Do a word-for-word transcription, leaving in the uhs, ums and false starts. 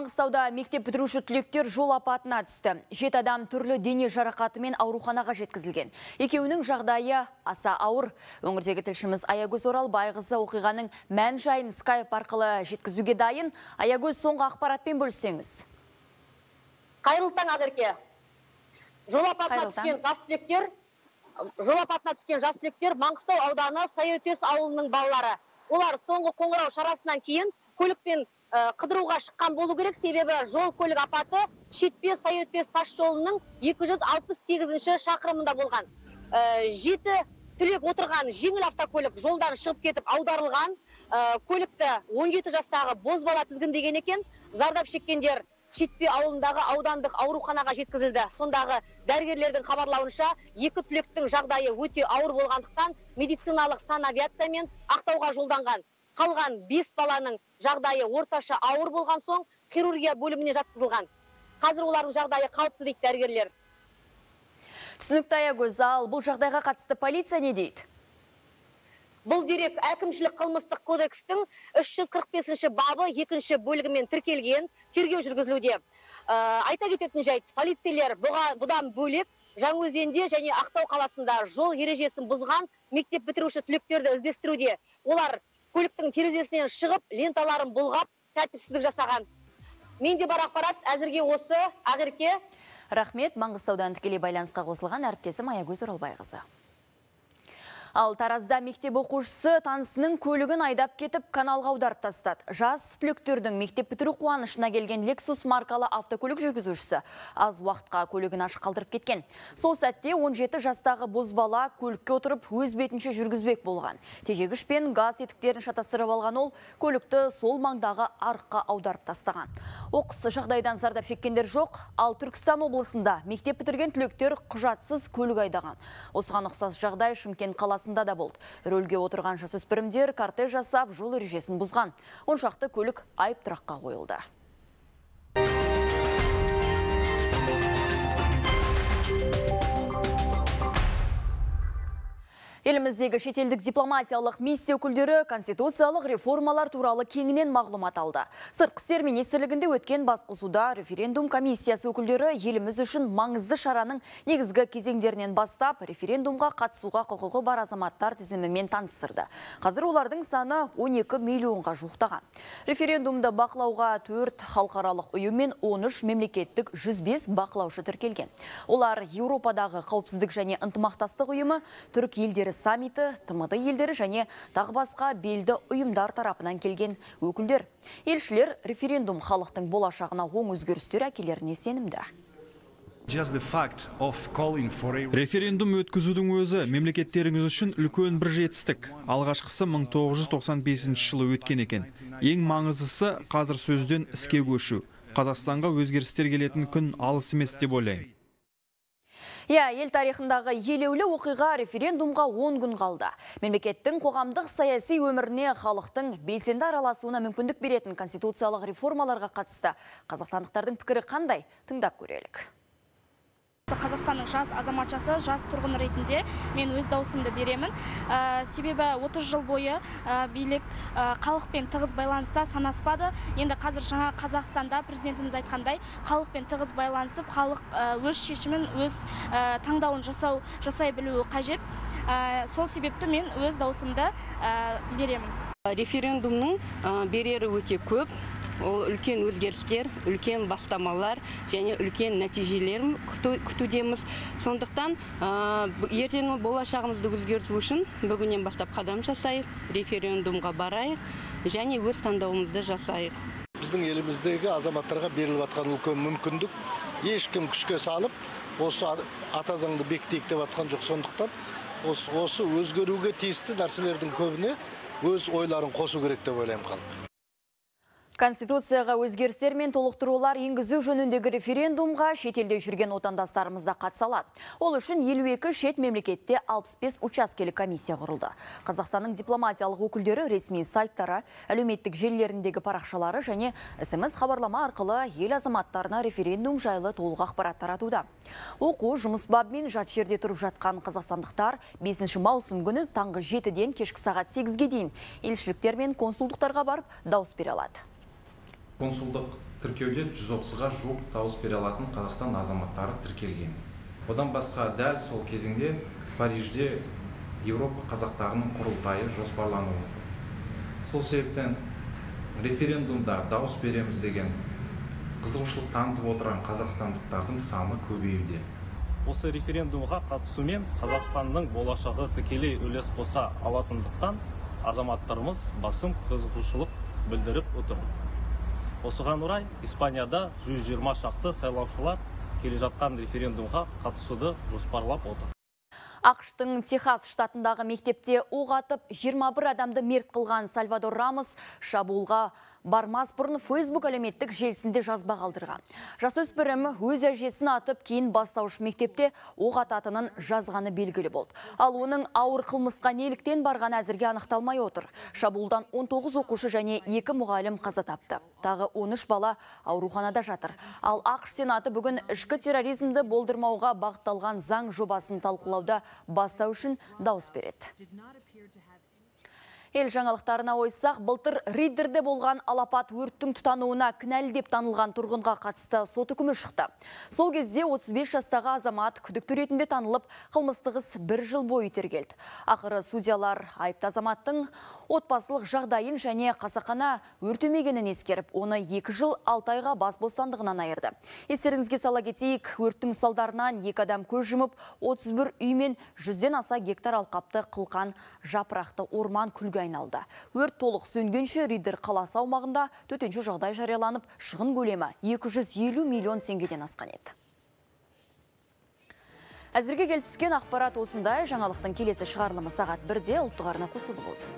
Маңғыстауда мектеп бітіруші түлектер жол апатына түсті. Жеті адам түрлі дене жарақатымен ауруханаға жеткізілген. Екеуінің жағдайы аса ауыр. Өңірдегі тілшіміз Аягөз Оралбайқызы оқиғаның мән жайын скайп арқылы жеткізуге дайын. Аягөз, соңғы ақпаратпен бөліссеңіз. Қайырлы таң, Ақерке. Жол апатына түскен жас түлектер, жол апатына түскен жас түлектер Маңғыстау ауданы Сайөтес ауылының балалары. Олар соңғы қоңырау шарасынан кейін көлікпен қыдыруға шыққан болу керек, себебі жол көлік апаты Шетпе Сайөтес тас жолының екі жүз алпыс сегізінші шақырымында болған. Жеті түлек отырған жеңіл автокөлік жолдан шығып кетіп аударылған. Көлікті он жеті жастағы бозбала тізгіндеген екен. Зардап шеккендер Шетпе ауылындағы аудандық ауруханаға жеткізілді. Сондағы дәрігерлердің хабарлауынша, екі түлектің жағдайы өте ауыр болғандықтан медициналық санавиациямен Ақтауға жолданған. Қалған бес баланың жағдайы орташа ауыр болған соң хирургия бөліміне жатқызылған. Қазір олардың жағдайы қалыпты дейді дәрігерлер. Түсінікті, Аягөз, ал бұл жағдайға қатысты полиция не дейді? Бұл дерек әкімшілік қылмыстық кодекстің үш жүз қырық бесінші бабы екінші бөлігімен тіркелген, тергеу жүргізілуде. Айта кететін жайт, полицейлер бұдан бөлек Жаңаөзенде және Ақтау қаласында жол ережесін бұзған мектеп бітіруші түлектерді іздестіруде. Олар көліктің терезесінен шығып, ленталарын бұлғап, тәртіпсіздік жасаған. Менде бар ақпарат әзірге осы. Ақерке. Рахмет, Маңғыстаудан тікелей байланысқа қосылған әріптесім Аягөз Оралбайқызы. Ал Таразда мектеп оқушысы танысының көлігін айдап кетіп, каналға аударып тастады. Жас түлектердің мектеп бітіру қуанышына келген Lexus маркалы автокөлік жүргізушісі аз уақытқа көлігін ашық қалдырып кеткен. Сол сәтте он жеті жастағы бозбала көлікке отырып өз бетінше жүргізбек болған. Тежегіш пен газ етіктерін шатастырып алған ол көлікті сол маңдағы арыққа аударып тастаған. Оқыс жағдайдан зардап шеккендер жоқ, ал Түркістан облысында мектеп бітірген түлектер құжатсыз көлік айдаған. Осыған ұқсас жағдай Шымкент қаласында да болды. Рөлге отырған жасөспірімдер кортеж жасап жол ережесін бұзған. Он шақты көлік айып тұраққа қойылды. Еліміздегі шетелдік дипломатиялық миссия өкілдері конституциялық реформалар туралы кеңінен мағлұмат алды. Сыртқы істер министрлігінде өткен басқосуда референдум комиссиясы өкілдері еліміз үшін маңызды шараның негізгі кезеңдерінен бастап референдумға қатысуға құқығы бар азаматтар тізімімен таныстырды. Қазір олардың саны он екі миллионға жуықтаған. Референдумды бақылауға төрт халықаралық ұйым мен он үш мемлекеттік жүз бес бақылаушы тіркелген. Олар Еуропадағы қауіпсіздік және ынтымақтастық ұйымы, түрік елдері саммиті, тмд елдері және тағы басқа белді ұйымдар тарапынан келген өкілдер. Елшілер референдум халықтың болашағына оң өзгерістер әкелеріне сенімді. Референдум өткізудің өзі мемлекеттеріңіз үшін үлкен бір жетістік. Алғашқысы мың тоғыз жүз тоқсан бесінші жылы өткен екен. Ең маңыздысы қазір сөзден іске көшу. Қазақстанға өзгерістер келетін күн алыс емес деп ойлаймын. Я, ел тарихындағы елеулі оқиға референдумға он күн қалды. Мемлекеттің қоғамдық саяси өміріне халықтың белсенді араласуына мүмкіндік беретін конституциялық реформаларға қатысты қазақстандықтардың пікірі қандай? Тыңдап көрелік. Қазақстанның жас азаматшасы, жас тұрғын ретінде мен өз даусымды беремін. Себебі отыз жыл бойы билік халықпен тығыз байланыста санаспады. Енді қазір жаңа Қазақстанда президентіміз айтқандай, халықпен тығыз байланысып, халық өз шешімін, өз таңдауын жасау, жасай білуі қажет. Сол себепті мен өз даусымды беремін. Референдумның берері өте көп. Ол үлкен өзгерістер, үлкен бастамалар және үлкен нәтижелерін күтудеміз. Сондықтан ертеңгі болашағымызды өзгерту үшін бүгіннен бастап қадам жасайық, референдумға барайық және өз таңдауымызды жасайық. Біздің еліміздегі азаматтарға беріліп жатқан үлкен мүмкіндік ешкім күшке салып, осы ата заңды бекітейік деп жатқан жоқ. Сондықтан осы өзгеруге тиісті нәрселердің көбіне өз ойларын қосу керек деп ойлаймын халық. Конституцияға өзгерістер мен толықтырулар енгізу жөніндегі референдумға шетелде жүрген отандастарымызда қатысалады. Ол үшін елу екі шет мемлекетте алпыс бес учаскелік комиссия құрылды. Қазақстанның дипломатиялық өкілдері ресми сайттары, әлеуметтік желілеріндегі парақшалары және смс хабарлама арқылы ел азаматтарына референдум жайлы толық ақпарат таратуда. Оқу жұмыс бабымен жат жерде тұрып жатқан қазақстандықтар бесінші маусым күні таңғы жетіден кешкі сағат сегізге дейін елшіліктер мен консулдықтарға барып дауыс бере алады. Консулдық тіркеуде жүз отызға жуық дауыс бере алатын Қазақстан азаматтары тіркелген. Одан басқа дәл сол кезеңде Парижде Еуропа қазақтарының құрылтайы жоспарлануы. Сол себептен референдумда дауыс береміз деген қызығушылық танытып отырған қазақстандықтардың саны көбеюде. Осы референдумға қатысумен Қазақстанның болашағы тікелей үлес қоса алатындықтан азаматтарымыз басым қызығушылық білдіріп отыр. Осыған орай Испанияда жүз жиырма шақты сайлаушылар келе жатқан референдумға қатысуды жоспарлап отыр. ақш-тың Техас штатындағы мектепте оқ атып жиырма бір адамды мерт қылған Сальвадор Рамос шабуылға бармас бұрын Facebook әлеуметтік желісінде жазба қалдырған. Жасөспірім өз әжесін атып кейін бастауыш мектепте оқ ататынын жазғаны белгілі болды. Ал оның ауыр қылмысқа неліктен барған әзірге анықталмай отыр. Шабуылдан он тоғыз оқушы және екі мұғалім қаза тапты. Тағы он үш бала ауруханада жатыр. Ал ақш Сенаты бүгін ішкі терроризмді болдырмауға бағытталған заң жобасын талқылауда бастау үшін дауыс береді. Ел жаңалықтарына ойсақ, былтыр Риддерде болған алапат өрттің тұтануына кінәлі деп танылған тұрғынға қатысты сот үкімі шықты. Сол кезде отыз бес жастағы азамат күдікті ретінде танылып, қылмыстық іс бір жыл бойы тергелді. Ақыры судьялар айыпты азаматтың отбасылық жағдайын және қасақана өртемегенін ескеріп, оны екі жыл алты айға бас бостандығынан айырды. Естеріңізге сала кетейік, өрттің салдарынан екі адам көз жұмып, отыз бір үй мен жүзден аса гектар алқапты қылқан жапырақты орман күлге айналды. Өрт толық сөнгенше Риддер қаласы аумағында төтенше жағдай жарияланып, шығын көлемі екі жүз елу миллион теңгеден асқан еді. Әзірге келіп түскен ақпарат осындай. Жаңалықтың келесі шығарылымы сағат бірде ұлттық арна қосулы болсын.